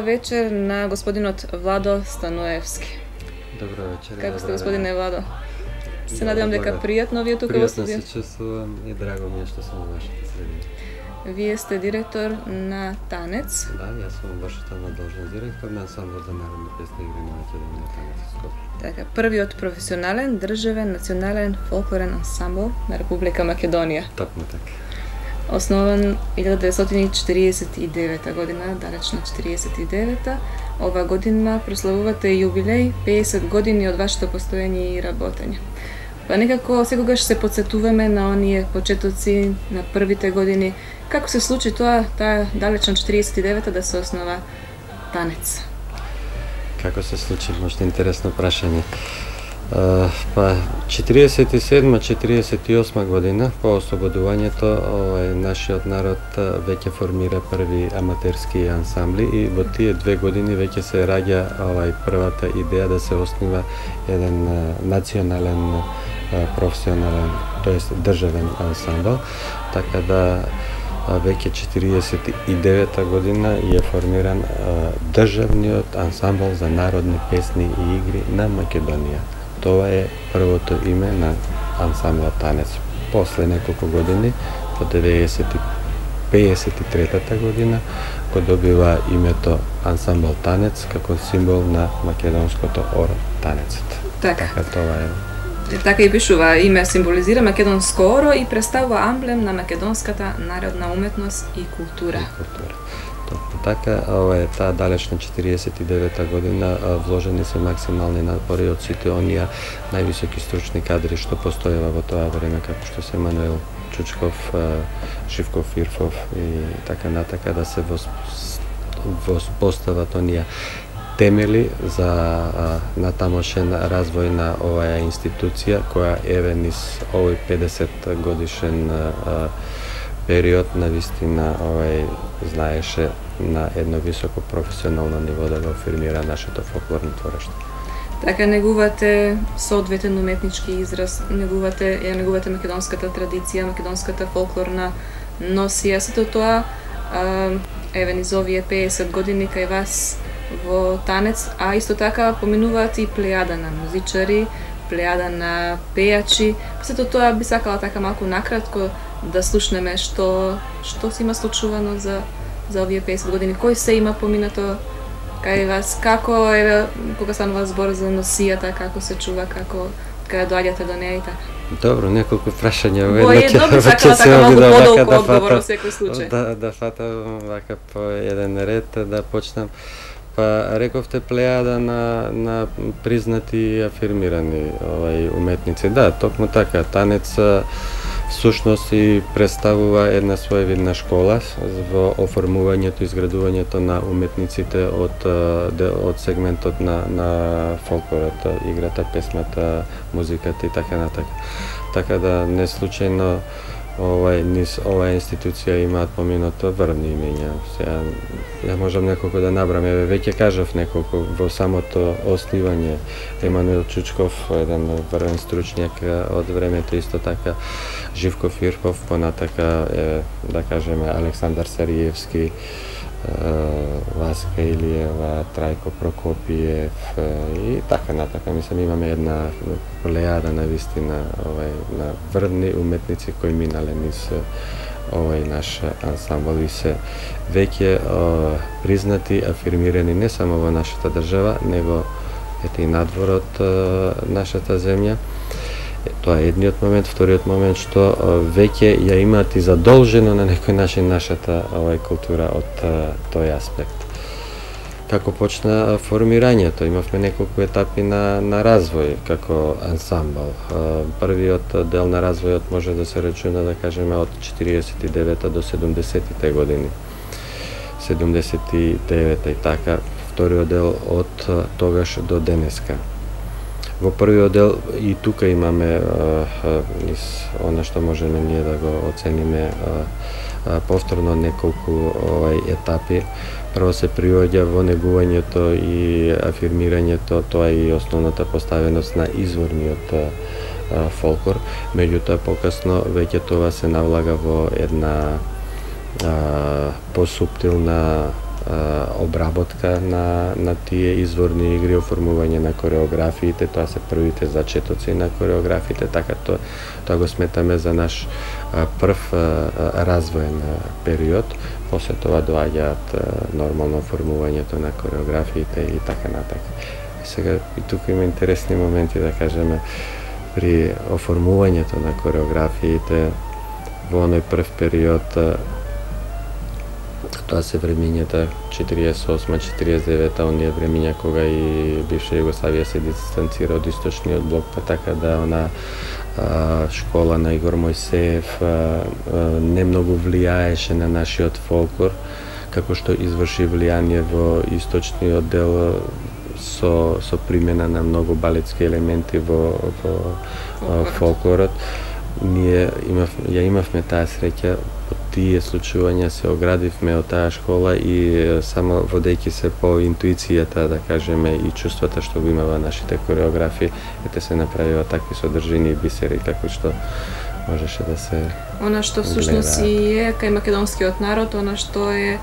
Вечер на господинот Владо Станоевски. Добро вечер. Како сте, господине Владо? Се надевам дека пријатно ви е тука во студио. Пријатно се чувствувам и драго ми е што сум во вашата средина. Вие сте директор на танец. Да, јас сум вашата должност директор на ансамбл за народни песни и игри на Македонија танец во Скопје. Така, првиот професионален, државен, национален фолклорен ансамбл на Република Македонија. Токму така. Основан 1949 година, далечна 49-та. Ова година прославувате јубилеј 50 години од вашето постоење и работење. Па некако секогаш се потсетуваме на оние почетоци, на првите години. Како се случи тоа, таа далечна 49-та да се основа танец? Како се случи, можда интересно прашање. Па 47-48 година по ослободувањето нашиот народ веќе формира први аматерски ансамбли и во тие 2 години веќе се раѓа првата идеја да се основа еден национален професионален, тоест државен ансамбл, така да веќе 49-та година е формиран државниот ансамбл за народни песни и игри на Македонија. Тоа е првото име на ансамблот танец. После неколку години, по 1953 година, го добива името ансамбл танец како символ на македонското оро танецот. Така тоа е. Така и пишува, име символизира македонско оро и представува амблем на македонската народна уметност и култура. Така, таа далечна 49-та година вложени се максимални напори од сите оние највисоки стручни кадри што постоева во тоа време, како што се Мануел Чучков, Живко Фирфов и така натака, да се воспостават оние темели за натамошен развој на оваа институција, која еве низ овој 50 годишен период навистина знаеше на едно високо професионално ниво да го афирмира нашето фолклорно творештво. Така негувате соодветен уметнички израз, негувате македонската традиција, македонската фолклорна носија, сето тоа еве низ овие 50 години кај вас во танец, а исто така поминуваат и плејада на музичари, плејада на пејачи. Сето тоа би сакала така малку накратко да слушнеме што се има случувано за овие 50 години. Кој се има поминато кај вас? Како еве кога станува збор за носијата, како се чува, како доаѓате до неа и така? Добро, неколку прашања во едно. Добро, сакала така малку подолго одговор во секој случај. Да фатам вака по еден ред, да почнам. Па рековте плејада на признати и афирмирани уметници. Да, токму така. Танец всушност и представува една своевидна школа во оформувањето и изградувањето на уметниците од сегментот на фолклорот, играта, песмата, музиката и така натака. Така да не случајно низ оваа институција имаат поминато врвни имења. Сега ја можам неколку да набрам, веќе кажав неколку во самото основање. Емануел Чучков, еден врвен стручњак од времето, исто така Живко Фирфов, понатака да кажеме Александар Сариевски, Васка Илиева, Трајко Прокопиев и така натака. Мислам, имаме една плејада навистина на врвни уметници кои минале низ овој наш ансамбл и се веќе признати, афирмирани не само во нашата држава, него и надвор од нашата земја. Тоа е едниот момент. Вториот момент што веќе ја имаат и задолжено на некој начин нашата култура од тој аспект. Како почна формирањето? Имавме неколку етапи на развој како ансамбл. Првиот дел на развојот може да се речуна, да кажеме, од 49-та до 70-тите години. 79-та и така. Вториот дел од тогаш до денеска. Во првиот дел и тука имаме она што можеме ние да го оцениме повторно неколку етапи. Прво се приоѓа во негувањето и афирмирањето, тоа е и основната поставеност на изворниот фолклор, меѓутоа покасно веќе тоа се навлага во една посуптилна обработка на тие изворни игри, оформување на кореографиите, тоа се првите зачетоци на кореографиите, така тоа го сметаме за наш прв развоен период. После тоа доаѓаат нормално оформувањето на кореографиите и така натака. Сега и тука има интересни моменти, да кажеме, при оформувањето на кореографиите во оној прв период. Тоа се времињата 48-49, оние времиња кога и бивша Југославија се дистанцира од источниот блок, па така да она школа на Игор Мојсеев не многу влијаеше на нашиот фолклор, како што изврши влијание во источниот дел со примена на многу балетски елементи во фолклорот. Ние имавме таа среќа, по тие случувања се оградивме од таа школа и само водејќи се по интуицијата, да кажеме, и чувствата што го имава нашите кореографии, ете се направива такви содржини и бисери како што можеше да се она што всушност и е кај македонскиот народ, она што е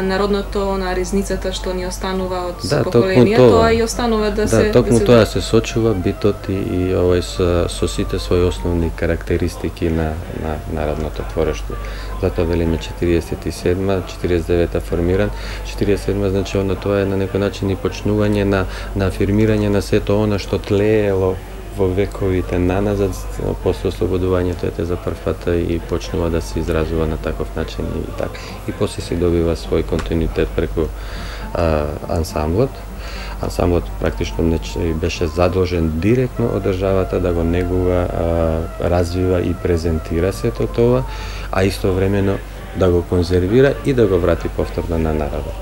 народното, ризницата што ни останува од поколенија, тоа и останува да се... Да, токму тоа се сочува битот и овој со сите своји основни карактеристики на народното творештво. Затоа велиме 47-ма, 49-та формиран, 47-ма значи тоа е на некој начин и почнување на афирмирање на сето она што тлеело во вековите наназад, после ослободувањето ете за прв пат и почнува да се изразува на таков начин и така. И после се добива свој континуитет преку ансамблот. Ансамблот практично беше задолжен директно од државата да го негува, развива и презентира сето тоа, а истовремено да го конзервира и да го врати повторно на народот.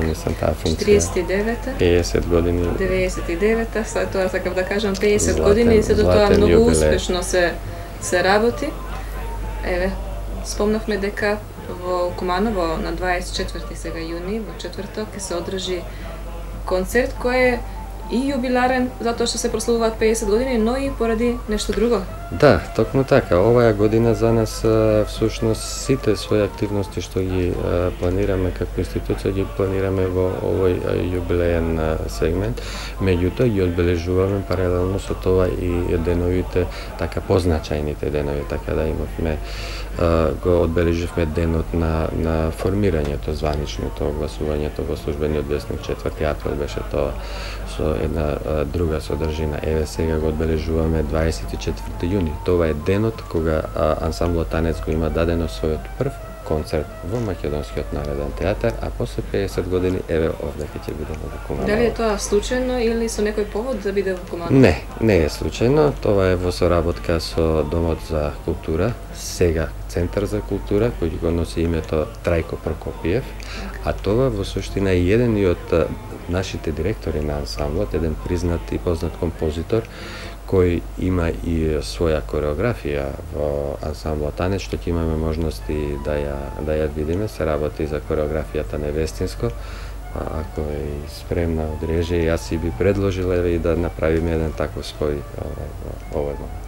Мислам, таа функција. 49-та, 50 години. 99-та, след тоа сакав да кажам 50 години и сето тоа многу успешно се работи. Еве, спомнавме дека во Куманово на 24 сега јуни, во четврток, ќе се одржи концерт кој е и јубиларен затоа што се прославуваат 50 години, но и поради нешто друго. Да, токму така. Оваа година за нас всушност сите своји активности што ги планираме како институција ги планираме во овој јубилеен сегмент. Меѓутоа ги одбележуваме паралелно со тоа и деновите, така позначајните денови, така да имавме го одбележивме денот на формирањето, званичното огласувањето во службениот весник 4 април беше тоа со една друга содржина. Еве сега го одбележуваме 24 јуни. Тоа е денот кога ансамблот Танец го има дадено својот прв концерт во Македонскиот народен театар, а после 50 години еве овде ќе бидеме во Куманово. Дали е тоа случајно или со некој повод да биде во Куманово? Не е случајно. Тоа е во соработка со Домот за култура, сега Центар за култура, кој го носи името Трајко Прокопиев, а тоа во суштина е еден и од нашите директори на ансамблот, еден признат и познат композитор, кој има и своја кореографија во ансамблот Танец, што ќе имаме можности да ја видиме. Се работи за кореографијата невестинско. Ако е спремна од режија, јас си би предложила и да направиме еден таков спој во овој момент.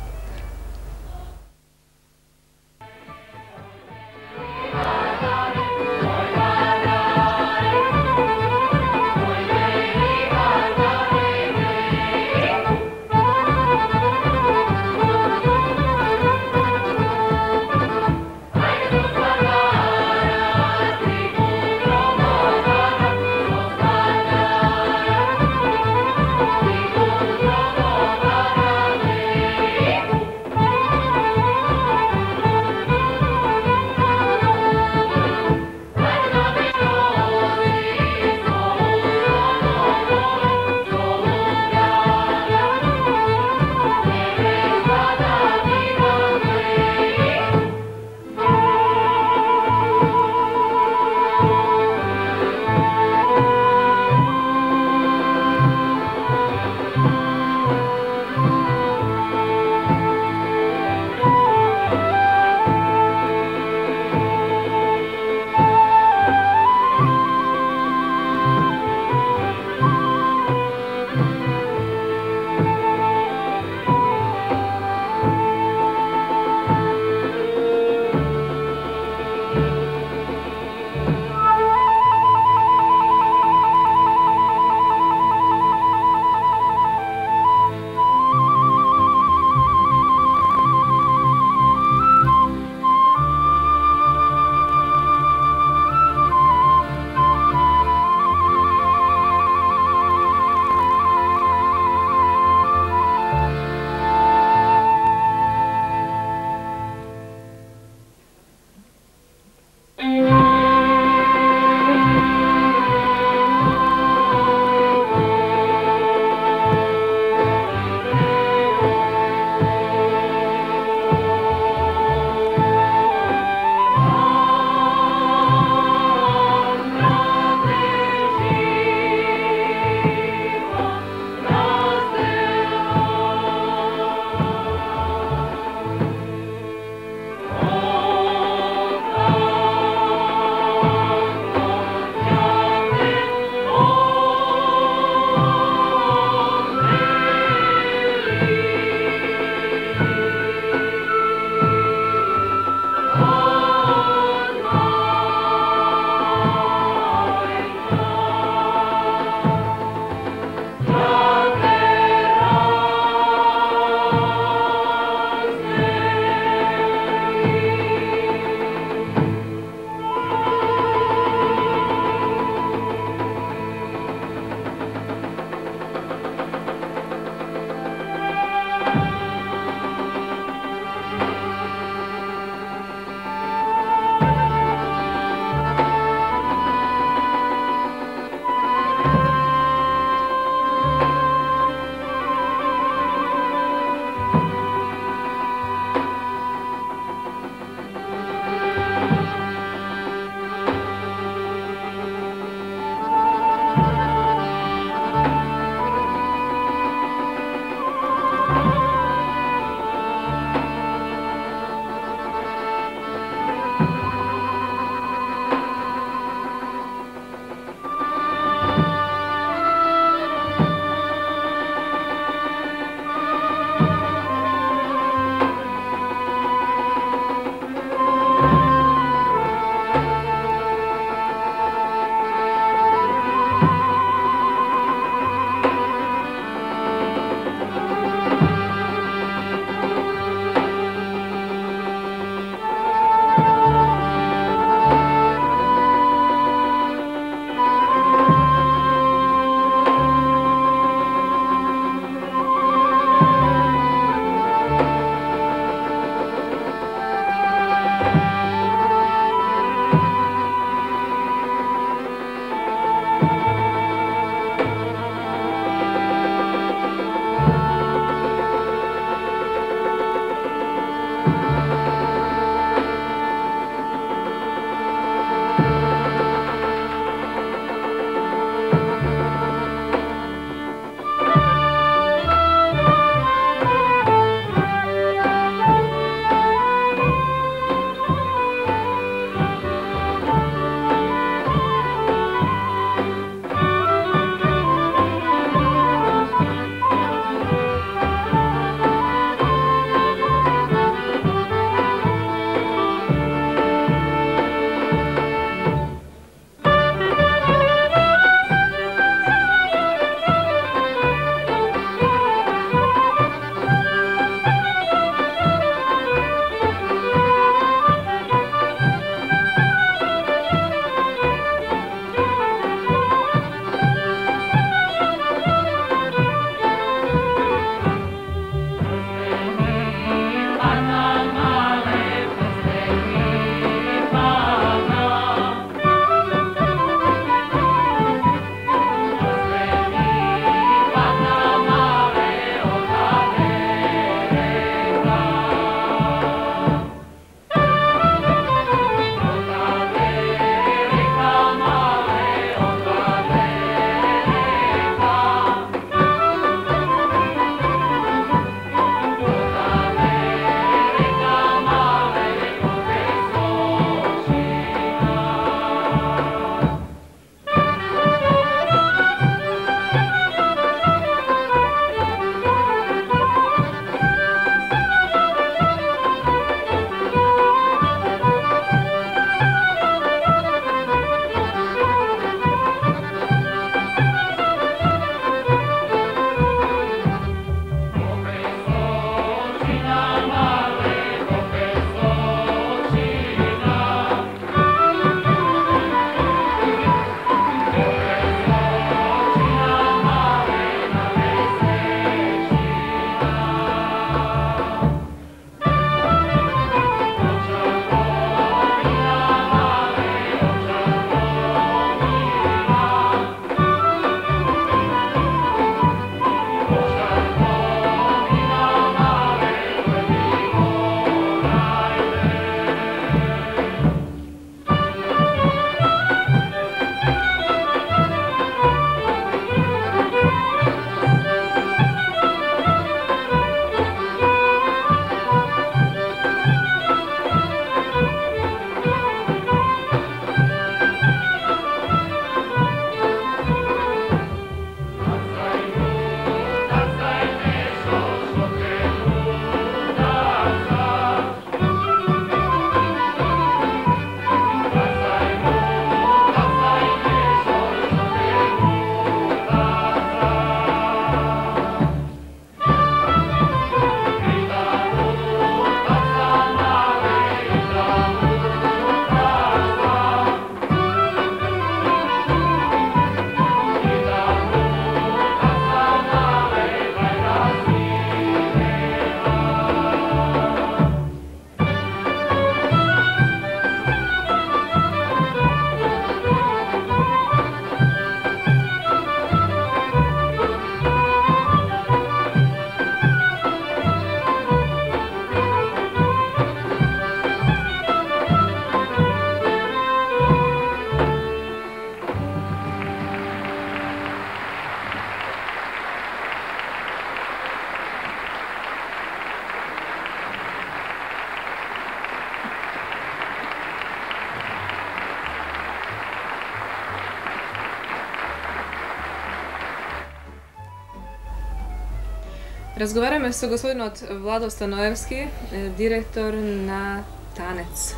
Разговараме со господинот Владо Станоевски, директор на Танец.